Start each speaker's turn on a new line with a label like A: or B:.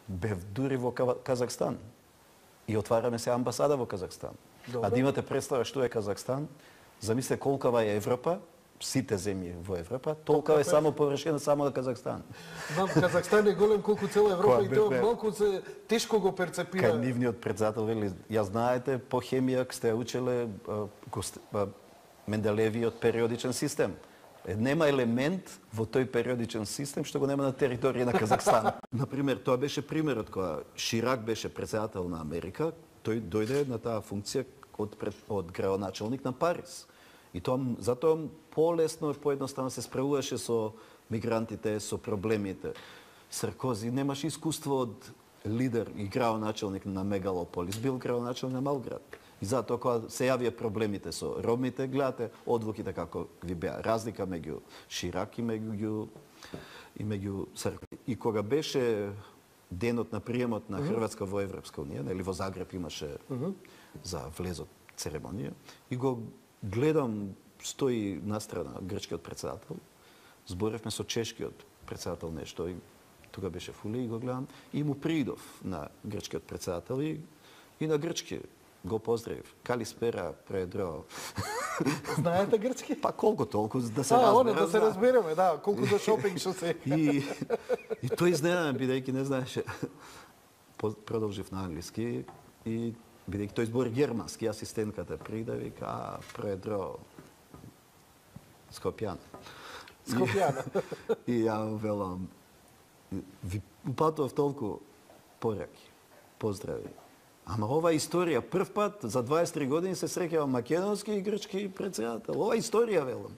A: бев дури во Казахстан. И отвараме се амбасада во Казахстан.
B: Добре.
A: А да имате представа што е Казахстан, замислете колкава е Европа, сите земји во Европа, толкова е само површина само на Казахстан.
B: Знам, Казахстан е голем колку цела Европа и тоа
A: бе,
B: малку се тешко го перцепира.
A: Кај нивниот председател вели, ја знаете, по хемија сте учеле Менделевиот периодичен систем. Нема елемент во тој периодичен систем што го нема на територија на Казахстан. Например, тоа беше примерот кога Ширак беше председател на Америка, тој дојде на таа функција од градоначалник на Париз. И тоа затоа полесно и поедноставно се справуваше со мигрантите, со проблемите. Саркози немаше искуство од лидер и градоначалник на мегалополис, бил градоначалник на мал град. И затоа кога се јавија проблемите со ромите, гледате одвуките како ви беа. Разлика меѓу Ширак и меѓу Саркози. И кога беше денот на приемот на Хрватска во Европска унија, нели во Загреб имаше за влезот церемонија, и го гледам, стои настрана грчкиот председател, зборевме со чешкиот председател нешто, и тога беше Фули, и го гледам, и му придов на грчкиот председател и на грчки го поздравив. Калиспера, предро.
B: Знаете грчки?
A: Па колку толку да се разбереме.
B: Да се разбереме, да, колку за шопинг што се.
A: И тој изненадан, бидејќи не знаеше. Продолжив на англиски и бидејќи тој збори германски, асистентката прида и вика, предро Скопјан.
B: Скопјан.
A: И ја велам, ви упатував толку пораки, поздрави. Ама ова историја, прв пат за 23 години се среќава македонски и грчки председател. Ова историја, велам.